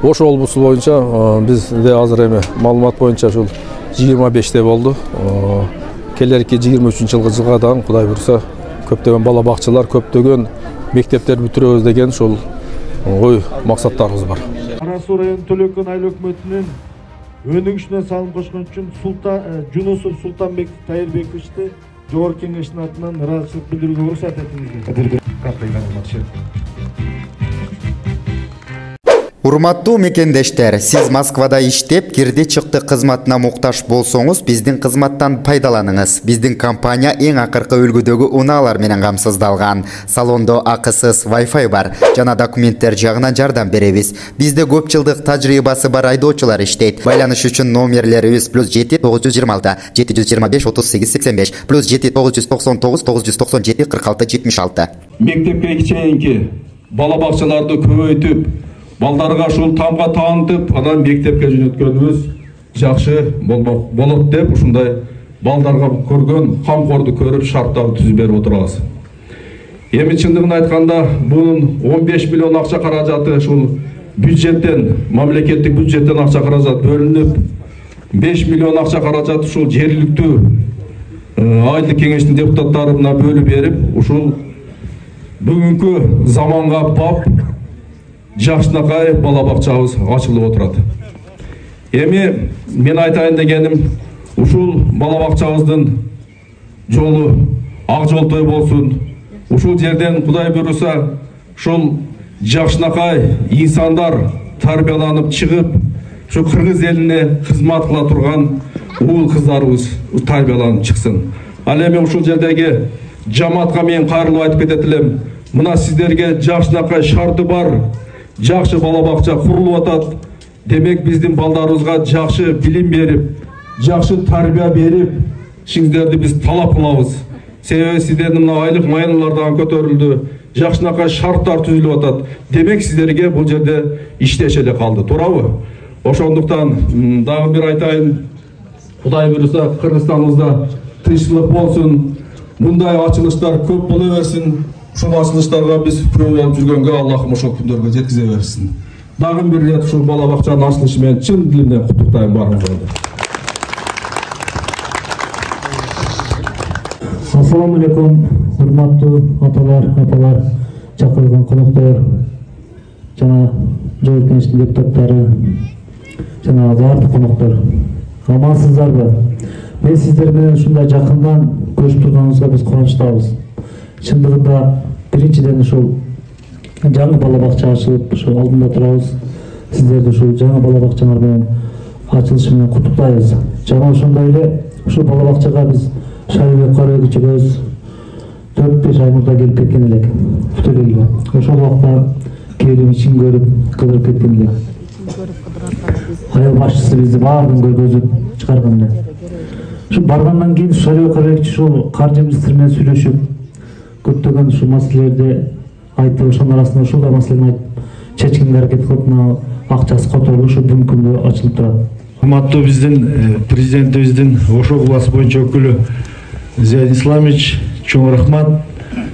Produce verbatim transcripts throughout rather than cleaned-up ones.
Ош облусу боюнча бизде азыр эми маалымат боюнча ушул жыйырма беште болду. Келерки жыйырма үчүнчү жылгы жылга дагы Кудай буйруса көптөгөн бала бакчалар, көптөгөн мектептер бүтүрөбүз деген ушул ой максаттарыбыз бар. Кара Суу району Төлөкөн айыл өкмөтүнүн өнүгүшүнө салым кошкон үчүн Султан Жунусов Султанбек Тайырбековичти Жогорку Кеңештин атынан ыраазычылык билдирүүгө уруксат этиңиздер. Урматтуу мекендештер, сиз Москвада иштеп, кирди чыкты кызматына муктаж болсоңуз, биздин кызматтан пайдаланыңыз. Биздин компания эң акыркы үлгүдөгү унаалар менен камсыздалган. Салондо акысыз Wi-Fi бар, жана документтер жагынан жардам беребиз. Бизде көп жылдык тажрыйбасы бар айдоочулар иштейт. Байланыш үчүн номерлерибиз плюс жети тогуз жүз жыйырма алты жети жүз жыйырма беш отуз сегиз сексен беш плюс жети тогуз жүз токсон тогуз тогуз жүз токсон жети кырк алты жетимиш алты. Мектепке чейинки бала бакчаларды көбөйтүп, балдарга ушул тамга таанытып, анан мектепке жөнөткөнүбүз жакшы болмок болот деп ушундай балдарга көргөн камкорду көрүп шарттарды түзүп берип отурабыз. Эми чындыгын айтканда, бунун он беш миллион акча каражаты ушул бюджеттен, мамлекеттик бюджеттен акча каражат бөлүнүп, беш миллион акча каражат ушул жергиликтүү айылдык кеңештин депутаттарына бөлүп берип, ушул бүгүнкү заманга бап жакшынакай бала бакчабыз ачылып отурат. Эми мен айтайын дегеним, ушул бала бакчабыздын жолу ак жолтой болсун. Ушул жерден Кудай буйруса ушул жакшынакай инсандар тарбияланып чыгып, ушу кыргыз элине кызмат кыла турган уул кыздарыбыз тарбияланып чыксын. Ал эми ушул жердеги жамаатка мен кайрылып айтып кетет элем. Мына сиздерге жакшынакай шарты бар жакшы бала бакча курулуп атат. Демек биздин балдарыбызга жакшы билим берип, жакшы тарбия берип, сиздерди биз талап кылабыз. Себеби сиздердин мына айлык майналар дагы көтөрүлдү, жакшынакай шарттар түзүлүп атат. Демек сиздерге бул жерде иштеш эле калды, туурабы? Ошондуктан дагы бир айтайын, Кудай буйруса Кыргызстаныбызда тынччылык болсун, мындай ачылыштар көп боло берсин. Ушул ачылыштарга биз күбө болуп жүргөнгө Аллахым ошол күндөргө жеткизе берсин. Дагы бир рет ушул бала бакчанын ачылышы менен чын дилимден куттуктайм баарыңызды. Ассаламу алейкум, урматтуу аталар, апалар, чакырылган коноктор, жана Жогорку Кеңештин депутаттары, жана баардык коноктор. Амансыздарбы? Мен сиздер менен ушундай жакындан көрүшүп турганыбызга биз кубанычтабыз. Чындыгында биринчиден ушул жаңы бала бакча ачылып, ушул алдында турабыз. Сиздерди ушул жаңы бала бакчалар менен ачылышы менен куттуктайбыз. Жана ошондой эле ушул бала бакчага биз Шарибек Карабекчибиз төрт беш ай мурда келип кеткен элек Бүтөлөгө. Ошол убакта келип ичин көрүп, кыдырып кеткен элек. Айыл башчысы бизди баардыгын көзөп чыгарган эле. Ушул баргандан кийин Шарибек Карабекчи ушул каржы министри менен сүйлөшүп, көптөгөн ушул маселелерди айтып, ошонун арасында ушул да маселени айтып, чечкенге аракет кылып, мына акчасы которулуп, ушу бүгүнкү күндө ачылып турат. Урматтуу биздин президентибиздин Ош областы боюнча өкүлү Зиян Исламович, чоң рахмат.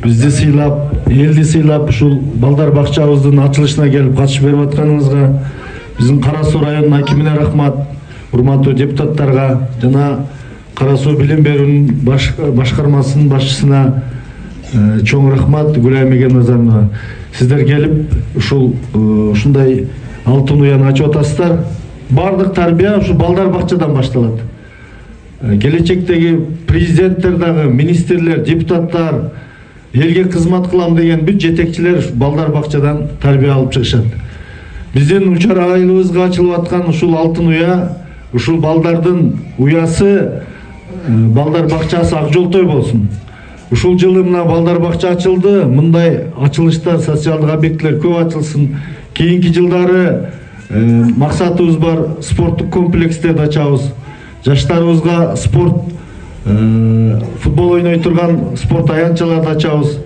Бизди сыйлап, элди сыйлап, ушул балдар бакчабыздын ачылышына келип катышып берип атканыңызга, биздин Кара Суу районунун акимине рахмат, урматтуу депутаттарга жана Кара Суу билим берүүнүн башкармасынын башчысына чоң рахмат, Гүлай Мегеназарова. Сиздер келип ушул ушундай алтын уяны ачып атасыздар. Бардык тарбия ушул балдар бакчадан башталат. Келечектеги президенттер дагы, министрлер, депутаттар, элге кызмат кылам деген бүт жетекчилер балдар бакчадан тарбия алып чыгышат. Биздин учар айылыбызга ачылып аткан ушул алтын уя, ушул балдардын уясы, балдар бакчасы ак жолтой болсун. Ушул жылы мына балдар бакча ачылды, мындай ачылыштар, социалдык объектилер көп ачылсын. Кийинки жылдары максатыбыз бар, спорттук комплекстерди ачабыз. Жаштарыбызга спорт, футбол ойной турган спорт аянтчаларды ачабыз.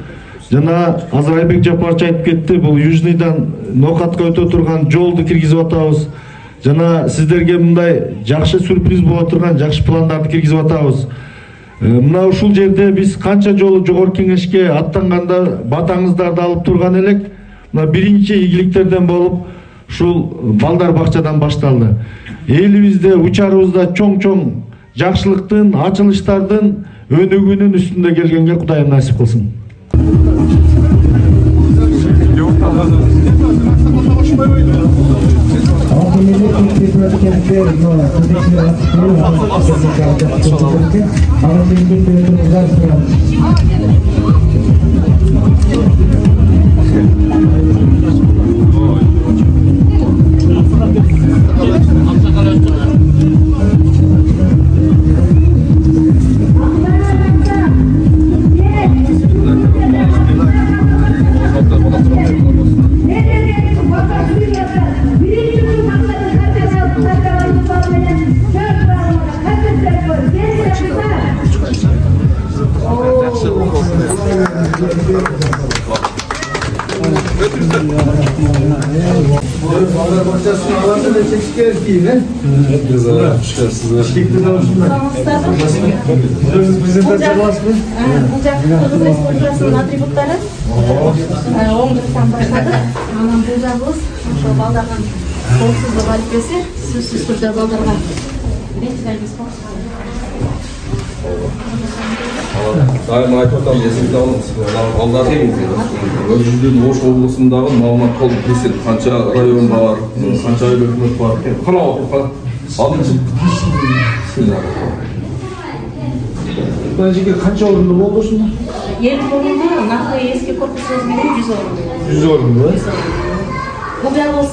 Жана азыр Айбек Жапарович айтып кетти, бул Южныйдан Ноокатка өтө турган жолду киргизип атабыз. Жана сиздерге мындай жакшы сюрприз боло турган жакшы пландарды киргизип атабыз. Мына ушул жерде биз канча жолу Жогорку Кеңешке аттанганда батаңыздарды алып турган элек. Мына биринчи ийгиликтерден болуп, ушул балдар бакчадан башталды. Элибизде, учарыбызда чоң-чоң жакшылыктын, ачылыштардын өнүгүүнүн үстүндө келгенге Кудайым насип кылсын. Атрибуттары оңдыртан баштады. Анан бул жагыбыз ошол балдардын коопсуздук алипеси сөзсүз түрдө балдарга беребиз. Дайым айтып атам, эсиңизде алыңыз. Балдардын өзүбүздүн Ош облусундагы маалымат толук билсин. Канча район бар, канча айыл өкмөт бар. Кана окуп алыңыз. Мына жерге канча орунду болду ушунда? элүү орунду, накы эски корпусубуз менен жүз орунду. жүз орунду, э? Бул жагыбыз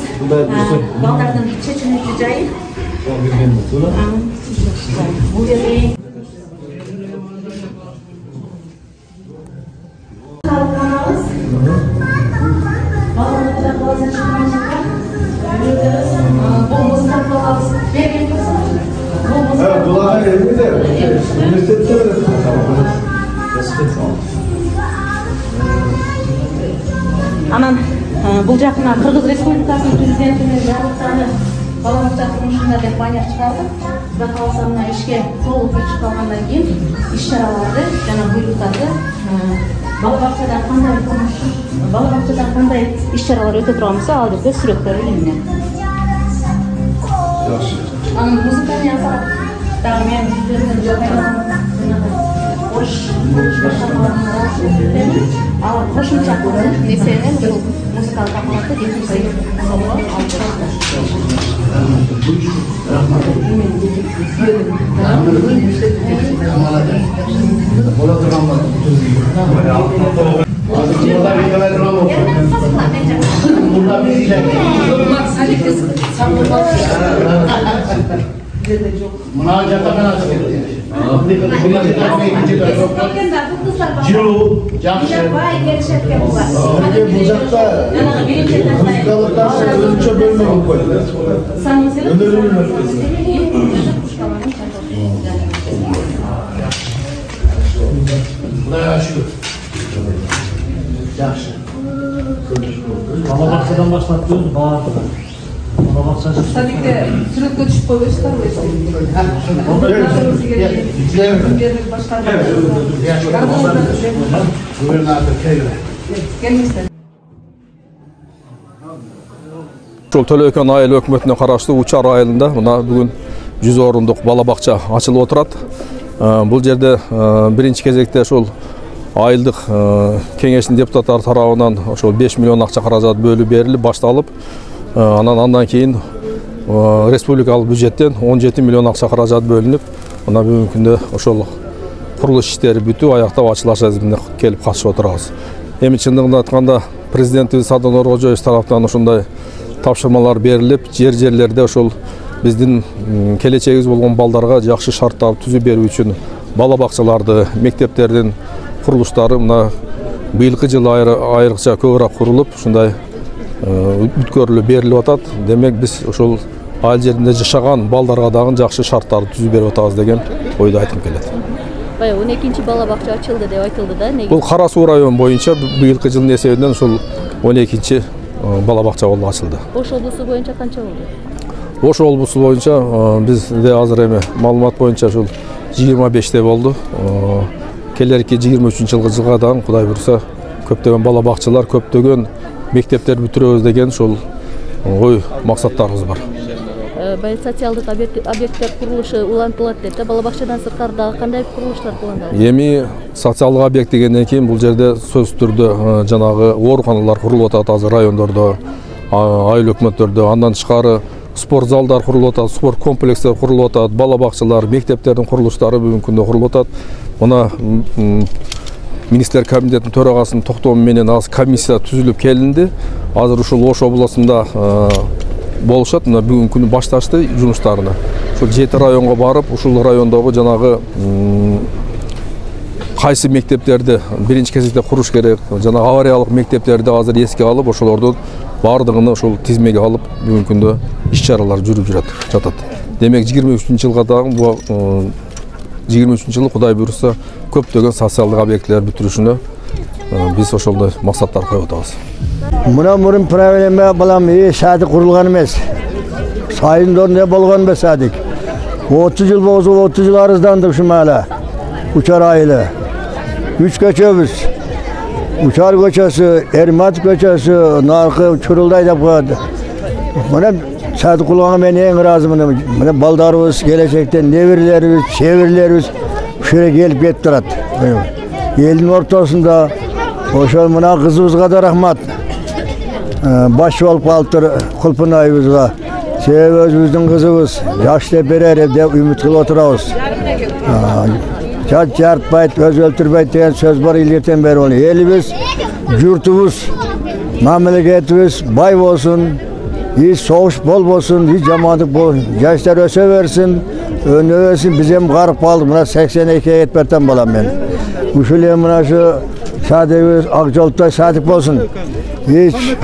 балдардын чечиликтүү жайы. Бул жерде анан бул жакына Кыргыз Республикасынын президентине жарлыктары бала бакча турмушунда деп баннер чыгардык. Кудай кааласа мына ишке толук чыгып калгандан кийин иш-чараларды жана буйруктарды бала бакчада кандай турмуш, бала бакчада кандай иш-чаралар өтө турган болсо, ал жерде сүрөттөр илинген. Жакшы. Анын музыканы ясап, дагы мен жүздөрүнөн жогайган Ош ал кошумча несенен ушул музыкалык аппаратты жеткирсек болот. Мына жатакана жылуу жакшы. Бул жакта музыкалык ташты өзүнчө бөлмө болуп койду. Өнөрүнүн Кудайга шүгүр. Жакшы. Бала бакчадан баштап өзү баардыгы. Бала бакчасы. Садикте сүрөткө түшүп койбойсуздар Ошол Төлөкөн айыл өкмөтүнө караштуу Учар айылында мына бүгүн жүз орундук бала бакча ачылып отурат. Бул жерде биринчи кезекте ошол айылдык кеңештин депутаттары тарабынан ошол беш миллион акча каражат бөлүп берилип башталып, анан андан кийин республикалык бюджеттен он жети миллион акча каражат бөлүнүп, мына бүгүнкү күндө ошол курулуш иштери бүтүп, аяктап ачылыш азимине келип катышып отурабыз. Эми чындыгын айтканда президентибиз Садыр Нуркожоевич тараптан ушундай тапшырмалар берилип, жер-жерлерде ошол биздин келечегибиз болгон балдарга жакшы шарттарды түзүп берүү үчүн бала бакчаларды, мектептердин курулуштары мына быйылкы жылы айрыкча көбүрөөк курулуп, ушундай бүткөрүлүп берилип атат. Демек биз ошол айыл жеринде жашаган балдарга дагы жакшы шарттарды түзүп берип атабыз деген ойду айтып келет. Баягы он экинчи бала бакча ачылды деп айтылды да. Бул Кара Суу району боюнча быйылкы жылдын эсебинен ушул он экинчи бала бакча болуп ачылды. Ош облусу боюнча канча болду? Ош облусу боюнча бизде азыр эми маалымат боюнча ушул жыйырма беште болду. Келерки жыйырма үчүнчү жылга жылга дагы Кудай буйруса көптөгөн бала бакчалар, көптөгөн мектептер бүтүрөбүз деген ушул ой максаттарыбыз бар. Бай социалдык объекттер курулушу улантылат дейт да, бала бакчадан сырткары дагы кандай курулуштар пландалат? Эми социалдык объект дегенден кийин бул жерде сөзсүз түрдө жанагы ооруканалар курулуп атат азыр райондордо, айыл өкмөттөрдө, андан тышкары спорт залдар курулуп атат, спорт комплекстер курулуп атат, бала бакчалар, мектептердин курулуштары бүгүнкү күндө курулуп атат. Мына министрлер кабинетинин төрагасынын токтому менен азыр комиссия түзүлүп келинди. Азыр ушул Ош областында болушат. Мына бүгүнкү күнү башташты жумуштарына. Ушул жети районго барып, ушул райондогу жанагы кайсы мектептерди биринчи кезекте куруш керек, жана авариялык мектептерди азыр эске алып, ошолордун бардыгын ушул тизмеге алып, бүгүнкү күндө иш-чаралар жүрүп жатат. Демек жыйырма үчүнчү жылга дагы бул жыйырма үчүнчү жылы Кудай буйрса көптөгөн социалдык объектилер бүтүрүшүнө биз ошолдой максаттар коюп атабыз. Мына мурун проблема балам э садик курулган эмес. Сайындорунда болгон эмес садик. отуз жыл болсо отуз жыл арыздандым шумала. Учар айылы. Үч көчөбүз. Учар көчөсү, Эрмат көчөсү, наркы Чурулдай деп коет. Мына садик курулганга мен эң ыраазымын. Мына балдарыбыз келечектен неберелерибиз, чеберлерибиз ушуга келип кетип турат. Элдин ортосунда ошол мына кызыбызга да рахмат. Башчы болуп калыптыр Кулпунайыбызга. Себеби өзүбүздүн кызыбыз жаш деп берер деп үмүт кылып отурабыз. Жат жартпайт, өз өлтүрбөйт деген сөз бар илгертен бери. Элибиз, журтубуз, мамлекетибиз бай болсун, и согуш болбосун, и жамандык болбосун. Жаштар өсө берсин, өнө берсин. Биз эми карып калдык. Мына сексен экиге кетип бертем балам мен. Ушул эми мына ушу садигибиз ак жолтой садик болсун. Эч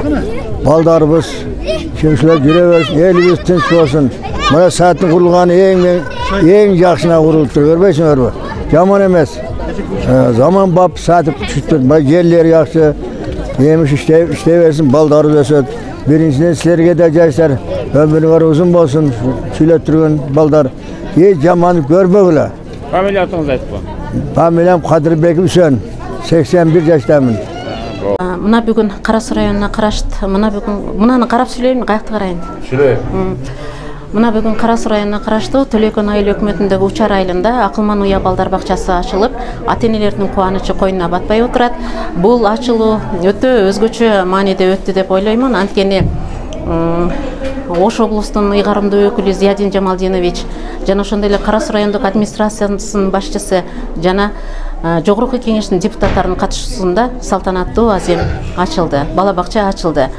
балдарыбыз чымшылар жүрө берсин, элибиз тынч болсун. Мына садиктин курулганы эң эң жакшына курулуптур, көрбөйсүңөрбү? Жаман эмес. Заман бап садик түштү. Мына жерлери жакшы. Эми иштей берсин, балдарыбыз өсөт. Биринчиден силерге да жаштар өмүрүңөр узун болсун, сүйлөп турган балдар. Эч жаман көрбөгүлө. Фамилияңызды айтып коюң. Фамилиям Кадырбек Үсөн. сексен бир жаштамын. Мына бүгүн Кара Суу районуна карашты. Мына бүгүн мунаны карап сүйлөйм, каякты карайын. Сүйлө. Мына бүгүн Кара Суу районуна караштуу Төлөкөн айыл өкмөтүндөгү Учар айылында Акылман уя балдар бакчасы ачылып, ата-энелердин кубанычы койнуна батпай отурат. Бул ачылуу өтө өзгөчө мааниде өттү деп ойлоймун. Анткени Ош облустунун ыйгарымдуу өкүлү Зиядин Жамалдинович жана ошондой эле Кара Суу райондук администрациясынын башчысы жана жогорку кеңештин депутаттарынын катышуусунда салтанаттуу азем ачылды. Бала бакча ачылды.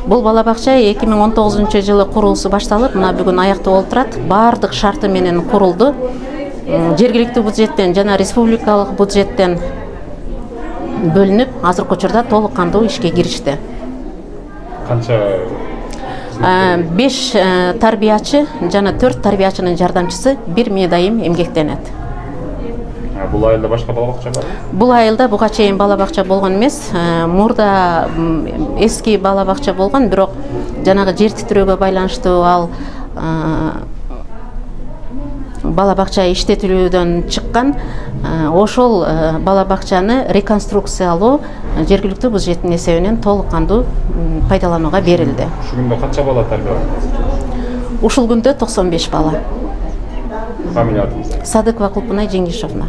Бул бала бакча эки миң он тогузунчу жылы курулуусу башталып, мына бүгүн аяктуу болуп турат. Бардык шарты менен курулду. Жергиликтүү бюджеттен жана республикалык бюджеттен бөлүнүп, азыркы учурда толук кандуу ишке киришти. Канча беш тарбиячы жана төрт тарбиячынын жардамчысы бир медайым эмгектенет. Бул айылда башка бала бакча барбы? Бул айылда буга чейин бала бакча болгон эмес. Мурда эски бала бакча болгон, бирок жанагы жер титирөөгө байланыштуу ал бала бакча иштетилүүдөн чыккан. Ошол бала бакчаны реконструкциялоо жергиликтүү бюджеттин эсебинен толук кандуу пайдаланууга берилди. Ушул күндө канча бала тарбияланды? Ушул күндө токсон беш бала. Фамилияңыз? Садыкова Кулпунай Жеңишовна.